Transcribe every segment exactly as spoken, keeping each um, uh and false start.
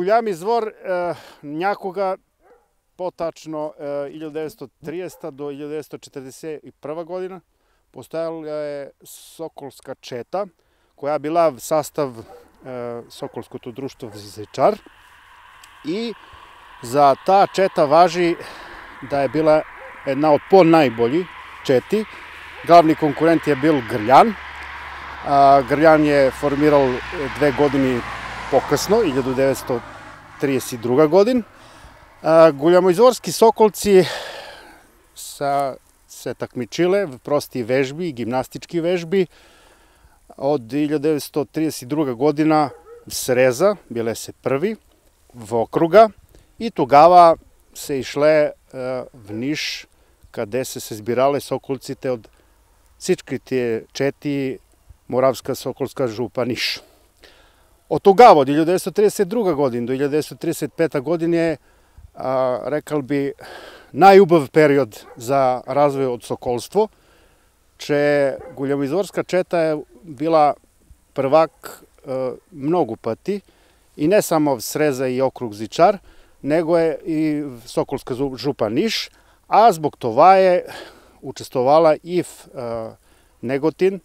Guljami Zvor някога по-тачно hiljadu devetsto trидесета до hiljadu devetsto četrdeset prva godina postojala je Sokolska četa koja je bila sastav Sokolskog društva Zečar i za ta četa važi da je bila jedna od po najbolji četi. Glavni konkurent je bil Grljan. Grljan je formiral dve godini pokasno, hiljadu devetsto trideset druga godin. Guljamizvorski Sokolci sa se takmičile v prosti vežbi, gimnastički vežbi. Od hiljadu devetsto trideset druga godina sreza, bile se prvi v okruga i тогава se išle v Niš, къде се се збирали соколците od всичките чети Моравска Соколска župa Niš. Od тогава, od hiljadu devetsto trideset druga godina do hiljadu devetsto trideset peta godina je, rekal bi, najubav period za razvoj od sokolstvo, че Guljamizvorska četa je bila prvak mnogo pati i ne samo v Sreza i okrug Zičar, nego je i Sokolska župa Niš, a zbog toga je učestvovala i v Negotin,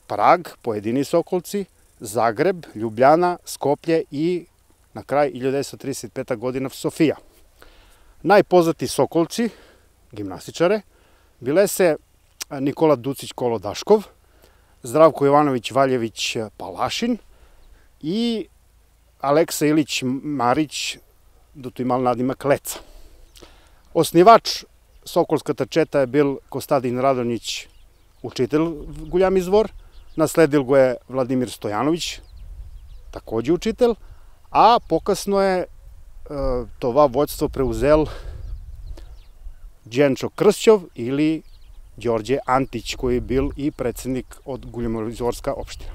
Prag, pojedini Sokolci, Zagreb, Ljubljana, Skoplje i na kraj hiljadu devetsto trideset peta godina Sofija. Najpoznati Sokolci, gimnastičare, bile se Nikola Ducić Kolodaškov, Zdravko Jovanović Valjević Palašin i Aleksa Ilić Marić, dok imal nadimak Leca. Osnivač Sokolskата četa je bil Kostadin Radonjić, učitelj Guljami Zvor, nasledil go je Vladimir Stojanović, također učitelj, a pokasno je това vođstvo preuzel Đenčo Kršćov ili Đorđe Antić, koji je bil i predsjednik od Guljamizvorska opština.